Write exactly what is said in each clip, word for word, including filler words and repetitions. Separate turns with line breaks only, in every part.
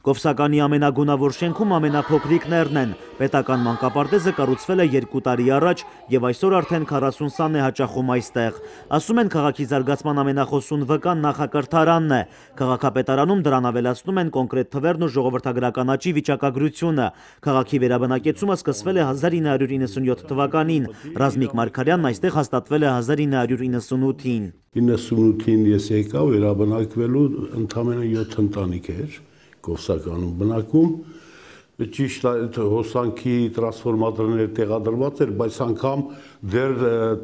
Կովսականի ամենագունավոր շենքում ամենափոքրիկ ներն են։ Պետական մանկապարտեզը կառուցվել է երկու տարի առաջ եւ այսօր արդեն քառասուն սան է հաճախում այստեղ։ Ասում են քաղաքի զարգացման ամենախոսուն վկան նախակրթարանն է։ Քաղաքապետարանում դրան ավելացնում են կոնկրետ թվերն ու ժողովրդագրական աճի վիճակագրությունը։ Քաղաքի վերաբնակեցումը սկսվել է հազար ինը հարյուր իննսունյոթ թվականին։ Ռազմիկ Մարգարյանն այստեղ հաստատվել է հազար ինը հարյուր իննսունութին։
իննսունութին ես եկա վերաբնակվելու ընդամենը յոթ ընտանիք էր Կովսականում բնակում, ճիշտ այդ հոսանքի տրանսֆորմատորները տեղադրված էր, բայց անգամ դեռ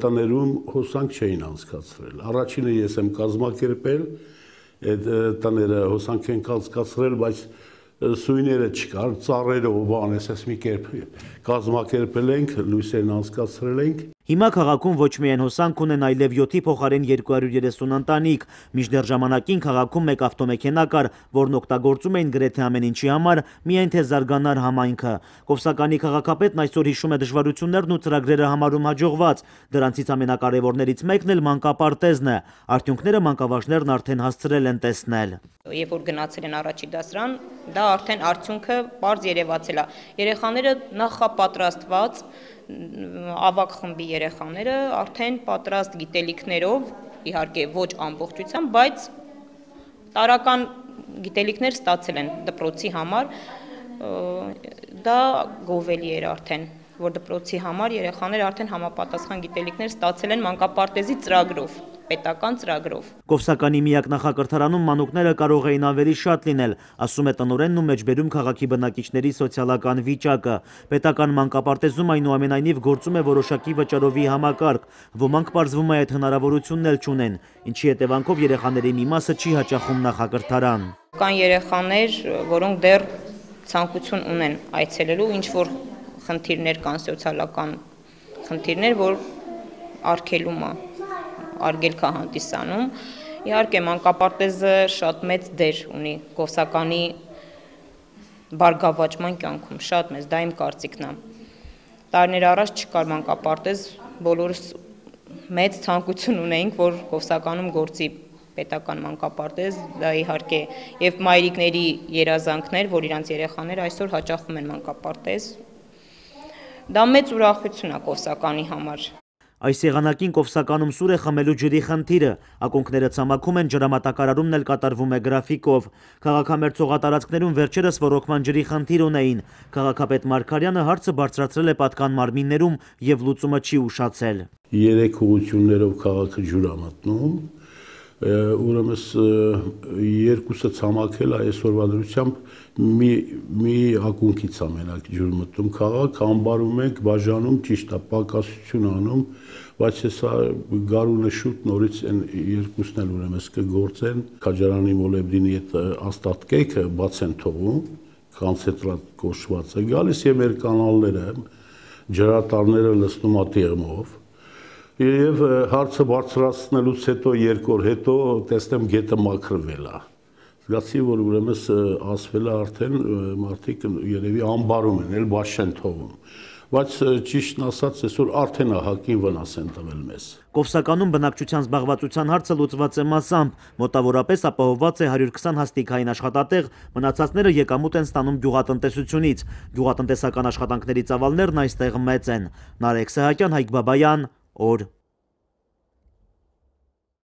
տներում հոսանք չէին անցկացրել։ Առաջինը ես եմ կազմակերպել, այդ տները հոսանք են անցկացրել, բայց սույները չկար, ծառերը ու բան, այսպես մի կերպ կազմակերպել ենք, լույսերն անցկացրել ենք։
Հիմա քաղաքում ոչ միայն հոսանք ունեն, այլև յոթի փոխարեն երկու հարյուր երեսուն ընտանիք։ Մինչդեռ ժամանակին քաղաքում մեկ ավտոմեքենա կար, որն օգտագործում էին գրեթե ամեն ինչի համար, միայն թե զարգանար համայնքը։ Կովսականի քաղաքապետն այսօր հիշում է դժվարություններն ու ծրագրերը համարում հաջողված։ Դրանցից ամենակարևորներից մեկն էլ մանկապարտեզն է։ Արդյունքները մանկավարժներն արդեն հասցրել են տեսնել։
Երբ որ գնացել են առաջի դասարան, դա արդեն արդյունքը պարզ երևացել է։ Երեխաները նախապատրաստված ավագ խմբի երեխաները արդեն պատրաստ գիտելիքներով, իհարկե ոչ ամբողջությամբ, բայց տարական գիտելիքներ ստացել են դպրոցի համար, դա գովելի էր արդեն, որ դպրոցի համար երեխաները արդեն համապատասխան գիտելիքներ ստացել են մանկապարտեզի ծրագրով, պետական ծրագրով։
Կովսականի միակ նախակրթարանում մանուկները կարող էին ավելի շատ լինել, ասում է տնօրենն ու մեջբերում քաղաքի բնակիչների սոցիալական վիճակը։ Պետական մանկապարտեզում այնուամենայնիվ գործում է որոշակի վճարովի համակարգ, ոմանք պարզվում է այդ հնարավորությունն էլ չունեն, ինչի հետևանքով երեխաների մի մասը չի հաճախում նախակրթարան։
Կան երեխաներ, որոնք դեռ ցանկություն ունեն այցելելու, ինչ որ խնդիրներ կան, սոցիալական խնդիրներ, որ արգելում է, արգելք է հանդիսանում։ Իհարկե մանկապարտեզը շատ մեծ դեր ունի Կովսականի բարգավաճման կյանքում, շատ մեծ, դա իմ կարծիքն է։ Տարիներ առաջ չկար մանկապարտեզ, բոլորս մեծ ցանկություն ունեինք, որ Կովսականում գործի պետական մանկապարտեզ, դա իհարկե եւ մայրիկների երազանքներ, որ իրանց երեխաները այսօր հաճախում են մանկապարտեզ։ Դա մեծ ուրախություն է Կովսականի համար։
Այս եղանակին Կովսականում սուր է խմելու ջրի խնդիրը, ակոնքները ցամաքում են, ջրամատակարարումն էլ կատարվում է գրաֆիկով։ Քաղաքամերձ հողատարածքներում վերջերս ոռոգման ջրի խնդիր ունեին։ Քաղաքապետ Մարգարյանը հարցը բարձրացրել է պատկան մարմիններում եւ լուծումը չի ուշացել։
Երեք ուղղություններով քաղաքը ջուր է մտնում, ուրեմն երկուսը ցամաքել այսօրվա դրությամբ մի մի ակունքից է մենակ ջուր մտնում քաղաք, անբարում ենք, բաժանում, ճիշտ է, պակասություն անում, բայց հեսա գարունը շուտ նորից են երկուսն էլ ուրեմն կգործեն, Քաջարանի մոլեբդինի այդ աստատկեքը բաց են թողում, կոնցենտրատ կոչվածը, գալիս է մեր կանալները, ջրատարները լցնում է տեղմով։ Եվ հարցը բարձրացնելուց հետո երկու օր հետո տեսնեմ գետը մաքրվել է։ Զգացի, որ ուրեմն ասվել է արդեն մարդիկ երևի անբարում են, էլ բաց չեն թողում։ Բայց ճիշտն ասած, այսօր արդեն հակին վնաս են տվել մեզ։
Կովսականում բնակչության զբաղվածության հարցը լուծված է մասամբ, մոտավորապես ապահովված է հարյուր քսան հաստիկային աշխատատեղ, մնացածները եկամուտ են ստանում գյուղատնտեսությունից։ Գյուղատնտեսական աշխատանքների ծավալներն այստեղ մեծ են։ Նարեկ Սահակյան, Հայկ Բաբայան, օր